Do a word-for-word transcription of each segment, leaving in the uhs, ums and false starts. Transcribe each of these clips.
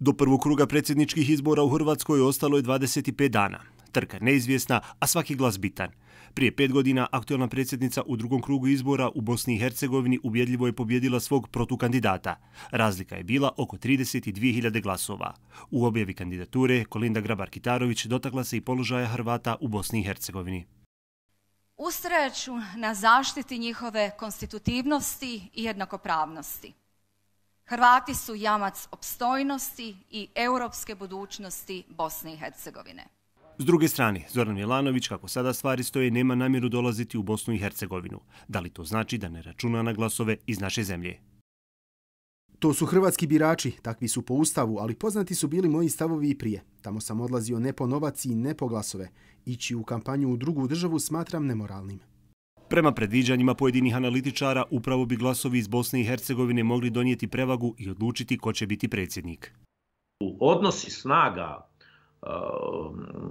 Do prvog kruga predsjedničkih izbora u Hrvatskoj ostalo je dvadeset pet dana. Trka neizvjesna, a svaki glas bitan. Prije pet godina aktualna predsjednica u drugom krugu izbora u Bosni i Hercegovini ubjedljivo je pobjedila svog protukandidata. Razlika je bila oko trideset dvije hiljade glasova. U objavi kandidature Kolinda Grabar-Kitarović dotakla se i položaja Hrvata u Bosni i Hercegovini. Ustrajat ću na zaštiti njihove konstitutivnosti i jednakopravnosti. Hrvati su jamac opstojnosti i europske budućnosti Bosne i Hercegovine. S druge strane, Zoran Milanović, kako sada stvari stoje, nema namjeru dolaziti u Bosnu i Hercegovinu. Da li to znači da ne računa na glasove iz naše zemlje? To su hrvatski birači, takvi su po Ustavu, ali poznati su bili moji stavovi i prije. Tamo sam odlazio ne po novac i ne po glasove. Ići u kampanju u drugu državu smatram nemoralnim. Prema predviđanjima pojedinih analitičara, upravo bi glasovi iz Bosne i Hercegovine mogli donijeti prevagu i odlučiti ko će biti predsjednik. Odnosi snaga uh,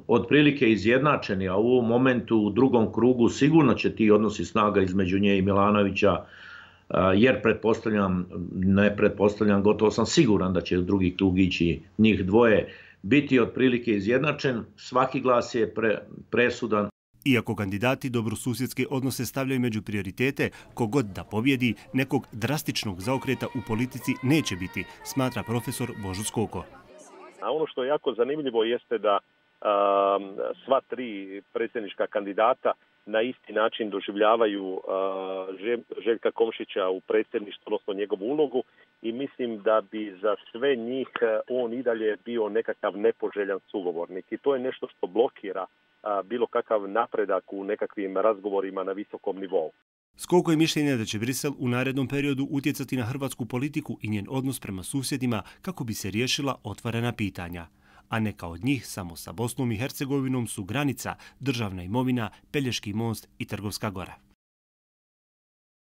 otprilike izjednačeni, a u ovom momentu u drugom krugu sigurno će ti odnosi snaga između nje i Milanovića, uh, jer pretpostavljam, ne pretpostavljam, gotovo sam siguran da će u drugi krug ići njih dvoje, biti otprilike izjednačen. Svaki glas je pre, presudan. Iako kandidati dobrosusjedske odnose stavljaju među prioritete, kogod da pobjedi, nekog drastičnog zaokreta u politici neće biti, smatra profesor Božo Skoko. A ono što je jako zanimljivo jeste da a, sva tri predsjednička kandidata na isti način doživljavaju a, Željka Komšića u predsjedništvu, odnosno njegovu ulogu, i mislim da bi za sve njih on i dalje bio nekakav nepoželjan sugovornik. I to je nešto što blokira a, bilo kakav napredak u nekakvim razgovorima na visokom nivou. Skoko je mišljenja da će Brisel u narednom periodu utjecati na hrvatsku politiku i njen odnos prema susjedima kako bi se riješila otvorena pitanja. A neka od njih samo sa Bosnom i Hercegovinom su granica, državna imovina, Pelješki most i Trgovska gora.